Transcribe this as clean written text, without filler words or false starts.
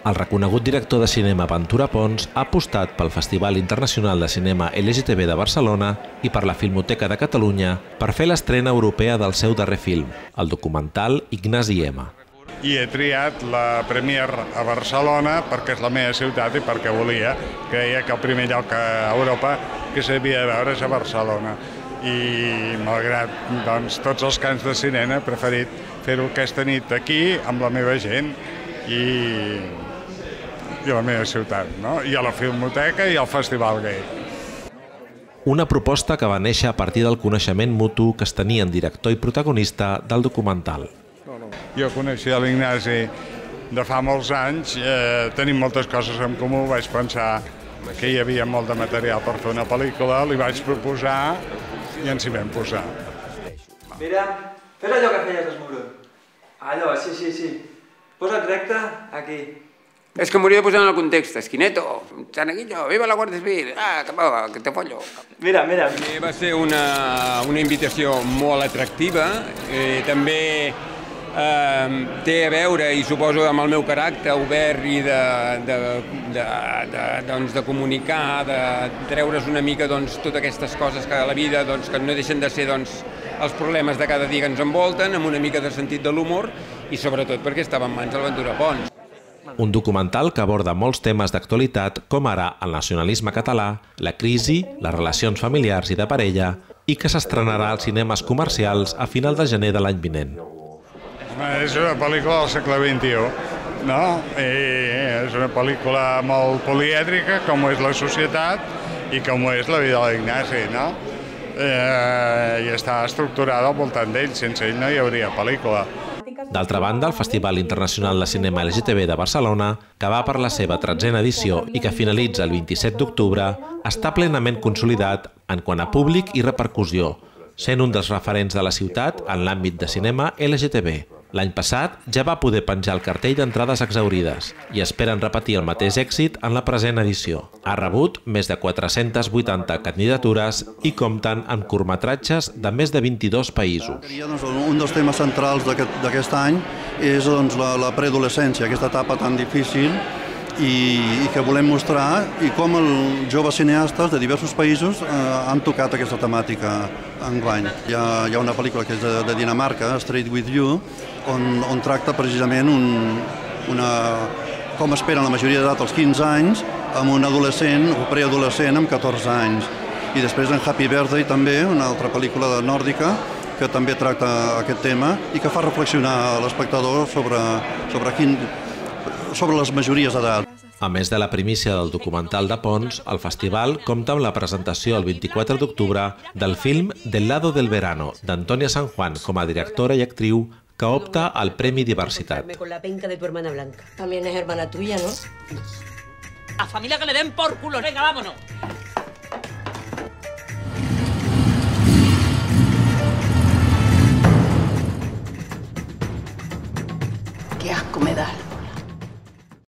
El reconegut director de cinema Ventura Pons ha apostat pel Festival Internacional de Cinema LGTB de Barcelona i per la Filmoteca de Catalunya per fer l'estrena europea del seu darrer film, el documental Ignasi M. I he triat la Premiere a Barcelona perquè és la meva ciutat i perquè volia. Creia que el primer lloc a Europa que s'havia de veure és a Barcelona. I malgrat tots els cants de cinema he preferit fer-ho aquesta nit aquí amb la meva gent i la meva ciutat, i a la Filmoteca i al Festival Gay. Una proposta que va néixer a partir del coneixement mutu que es tenien director i protagonista del documental. Jo coneixia l'Ignasi de fa molts anys, tenim moltes coses en comú, vaig pensar que hi havia molt de material per fer una pel·lícula, li vaig proposar i ens hi vam posar. Mira, fes allò que feies, Esmuró. Allò, sí. Posa't recte, aquí. És que m'hauria de posar en el context. Esquineto, Chanaguillo, viva la Guàrdia Civil, que te follo. Mira. Va ser una invitació molt atractiva, també té a veure, i suposo amb el meu caràcter obert i de comunicar, de treure's una mica totes aquestes coses que a la vida que no deixen de ser els problemes de cada dia que ens envolten, amb una mica de sentit de l'humor i sobretot perquè estava en mans del Ventura Pons. Un documental que aborda molts temes d'actualitat com ara el nacionalisme català, la crisi, les relacions familiars i de parella i que s'estrenarà als cinemes comercials a final de gener de l'any vinent. És una pel·lícula del segle XXI, és una pel·lícula molt polièdrica, com és la societat i com és la vida de l'Ignasi, i està estructurada al voltant d'ell, sense ell no hi hauria pel·lícula. D'altra banda, el Festival Internacional de Cinema LGTB de Barcelona, que va per la seva 13a edició i que finalitza el 27 d'octubre, està plenament consolidat en quant a públic i repercussió, sent un dels referents de la ciutat en l'àmbit de cinema LGTB. L'any passat ja va poder penjar el cartell d'entrades exhaurides i esperen repetir el mateix èxit en la present edició. Ha rebut més de 480 candidatures i compten amb curtmetratges de més de 22 països. Un dels temes centrals d'aquest any és la preadolescència, aquesta etapa tan difícil i que volem mostrar i com els joves cineastes de diversos països han tocat aquesta temàtica enguany. Hi ha una pel·lícula que és de Dinamarca, Straight With You, on tracta precisament com esperen la majoria d'edat als 15 anys amb un adolescent o preadolescent amb 14 anys. I després en Happy Birthday també, una altra pel·lícula nòrdica que també tracta aquest tema i que fa reflexionar l'espectador sobre les majories d'edat. A més de la primícia del documental de Pons, el festival compta amb la presentació el 24 d'octubre del film Del lado del verano, d'Antònia San Juan com a directora i actriu que opta al Premi Diversitat. Con la penca de tu hermana Blanca. También es hermana tuya, ¿no? A familia que le den por culo, venga, vámonos.